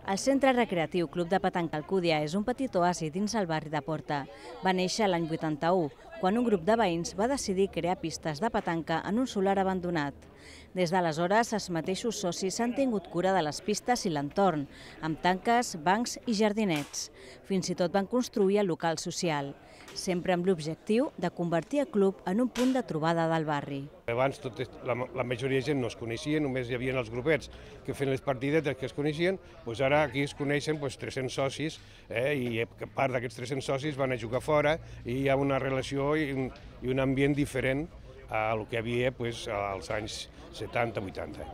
El Centre Recreatiu Club de Petanca Alcúdia és un petit oasi dins el barri de Porta. Va néixer l'any 81, quan un grup de veïns va decidir crear pistes de petanca en un solar abandonat. Des d'aleshores, els mateixos socis han tingut cura de les pistes i l'entorn, amb tanques, bancs i jardinets. Fins i tot van construir el local social, sempre amb l'objectiu de convertir el club en un punt de trobada del barri. Abans la majoria de gent no es coneixia, només hi havia els grupets que feien les partidetes que es coneixien, doncs ara aquí es coneixen 300 socis i part d'aquests 300 socis van a jugar fora i hi ha una relació i un ambient diferent al que hi havia als anys 70-80.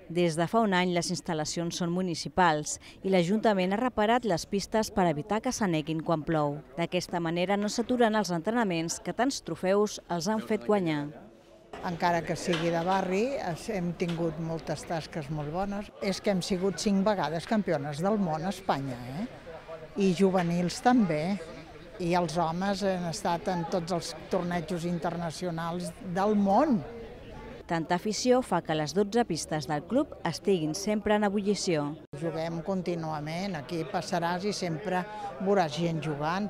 Des de fa un any les instal·lacions són municipals i l'Ajuntament ha reparat les pistes per evitar que s'aneguin quan plou. D'aquesta manera no s'aturen els entrenaments que tants trofeus els han fet guanyar. Encara que sigui de barri, hem tingut moltes tasques molt bones. És que hem sigut 5 vegades campiones del món a Espanya, i juvenils també. I els homes han estat en tots els tornejos internacionals del món. Tanta afició fa que les 12 pistes del club estiguin sempre en ebullició. Juguem contínuament, aquí passaràs i sempre veuràs gent jugant.